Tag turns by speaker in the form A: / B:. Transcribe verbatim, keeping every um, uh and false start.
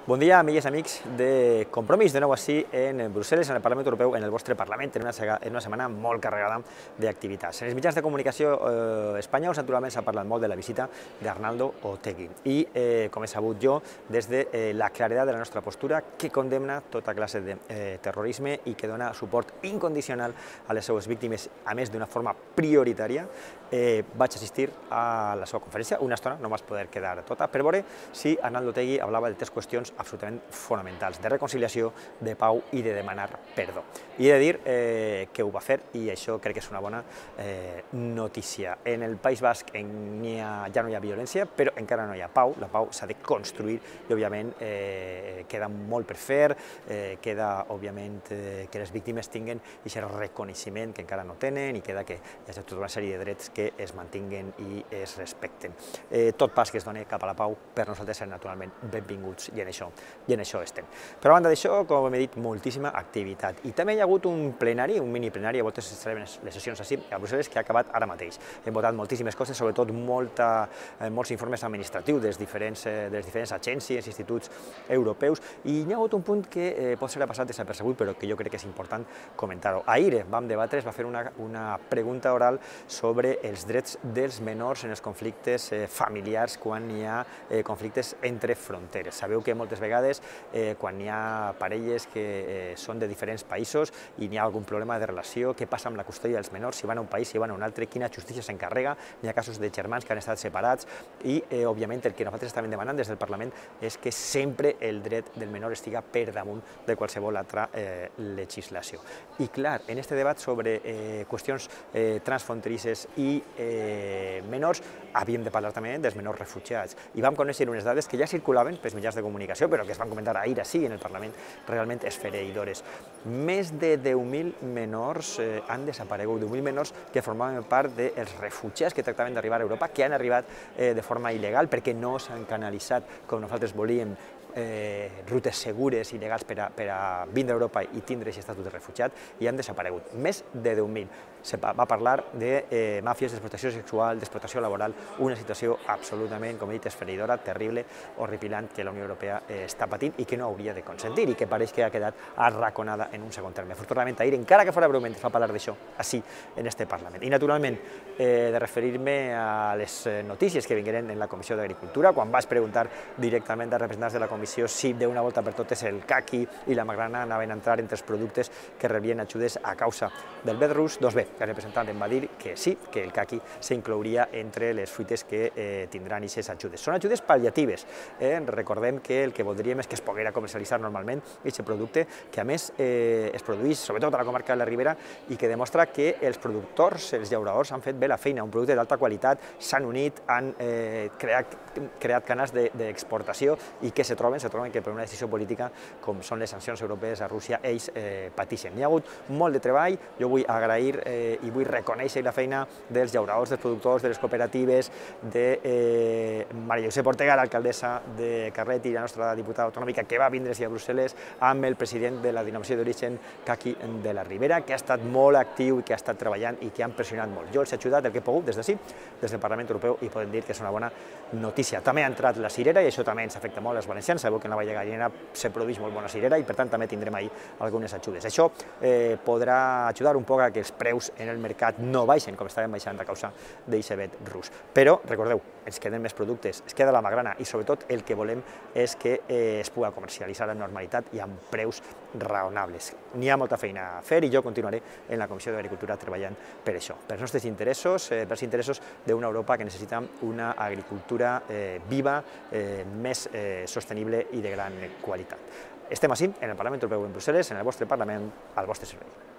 A: Bon dia, amigues i amics de Compromís, de nou així en Brussel·les, en el Parlament Europeu, en el vostre Parlament, en una, en una setmana molt carregada d'activitats. En els mitjans de comunicació eh, espanyols, naturalment, s'ha parlat molt de la visita d'Arnaldo Otegi. I, eh, com he sabut jo, des de eh, la claredat de la nostra postura, que condemna tota classe de eh, terrorisme i que dona suport incondicional a les seues víctimes, a més d'una forma prioritària, eh, vaig assistir a la seva conferència, una estona, no m'has poder quedar tota, per veure si Arnaldo Otegi hablava de tres qüestions absolutament fonamentals, de reconciliació, de pau i de demanar perdó. I he de dir eh, que ho va fer i això crec que és una bona eh, notícia. En el País Basc ha, ja no hi ha violència, però encara no hi ha pau, la pau s'ha de construir i òbviament eh, queda molt per fer, eh, queda òbviament eh, que les víctimes tinguen aquest reconeixement que encara no tenen i queda que hi ha tota una sèrie de drets que es mantinguen i es respecten. Eh, tot pas que es doni cap a la pau per nosaltres serà naturalment benvinguts i en això i en això estem. Però a banda d'això, com he dit, moltíssima activitat. I també hi ha hagut un plenari, un mini plenari, a voltes es celebren les sessions així a Brussel·les, que ha acabat ara mateix. Hem votat moltíssimes coses, sobretot molta, eh, molts informes administratius dels diferents, eh, de les diferents agències, instituts europeus, i hi ha hagut un punt que eh, pot ser passat desapercebut, però que jo crec que és important comentar-ho. Ahir vam debatre, es va fer una, una pregunta oral sobre els drets dels menors en els conflictes eh, familiars quan hi ha eh, conflictes entre fronteres. Sabeu que moltes vegades, eh, quan hi ha parelles que eh, són de diferents països i n'hi ha algun problema de relació, què passa amb la custòdia dels menors, si van a un país, si van a un altre, quina justícia s'encarrega, n'hi ha casos de germans que han estat separats i, eh, òbviament, el que nosaltres estàvem demanant des del Parlament és que sempre el dret del menor estiga per damunt de qualsevol altra eh, legislació. I, clar, en aquest debat sobre eh, qüestions eh, transfronterisses i eh, menors, havíem de parlar també dels menors refugiats. I vam conèixer unes dades que ja circulaven pels mitjans de comunicació, però que es van comentar ahir així en el Parlament, realment esfereïdores. Més de deu mil menors eh, han desaparegut, deu mil menors que formaven part dels refugiats que tractaven d'arribar a Europa, que han arribat eh, de forma il·legal perquè no s'han canalitzat com nosaltres volíem eh, rutes segures i legals per a, per a vindre a Europa i tindre aquest estatut de refugiat i han desaparegut. Més de deu mil. Se va parlar de eh, màfies d'explotació sexual, d'explotació laboral, una situació absolutament, com he dit, esfereïdora, terrible, horripilant, que la Unió Europea eh, està patint i que no hauria de consentir i que pareix que ha quedat arraconada en un segon terme. Afortunadament, ahir, encara que fora breument, es va parlar d'això, així, en este Parlament. I, naturalment, eh, de referir-me a les notícies que vingueren en la Comissió d'Agricultura, quan vas preguntar directament als representants de la Comissió si d'una volta per totes el caqui i la magrana anaven a entrar entre els productes que rebrien ajudes a causa del vet rus, doncs bé, el representant em va dir que sí, que el caqui s'inclouria entre les fruites que eh, tindran aquestes ajudes. Són ajudes pal·liatives. Eh? Recordem que el que voldríem és que es poguera comercialitzar normalment aquest producte, que a més eh, es produeix sobretot a la comarca de la Ribera i que demostra que els productors, els llauradors, han fet bé la feina, un producte d'alta qualitat, s'han unit, han eh, creat, creat canals d'exportació i que se troben, se troben que per una decisió política, com són les sancions europees a Rússia, ells eh, pateixen. Hi ha hagut molt de treball, jo vull agrair eh, i vull reconèixer la feina dels llauradors, dels productors, de les cooperatives, de eh, Maria Josep Ortega, l'alcaldessa de Carlet i la nostra diputada autonòmica que va vindre a Brussel·les amb el president de la denominació d'origen Caqui de la Ribera, que ha estat molt actiu i que ha estat treballant i que han pressionat molt. Jo els he ajudat el que he pogut des d'ací, des del Parlament Europeu, i podem dir que és una bona notícia. També ha entrat la cirera i això també ens afecta molt als valencians. Sabeu que en la Vall de Gallinera se produeix molt bona cirera i per tant també tindrem ahir algunes ajudes. Això eh, podrà ajudar un poc a que els preus en el mercat no baixen com estaven baixant a causa d'aquest vet rus. Però, recordeu, ens queden més productes, es queda la magrana i sobretot el que volem és que eh, es pugui comercialitzar amb normalitat i amb preus raonables. N'hi ha molta feina a fer i jo continuaré en la Comissió d'Agricultura treballant per això, per els nostres interessos, eh, per els interessos d'una Europa que necessita una agricultura eh, viva, eh, més eh, sostenible i de gran qualitat. Estem així, en el Parlament Europeu en Brussel·les, en el vostre Parlament, al vostre servei.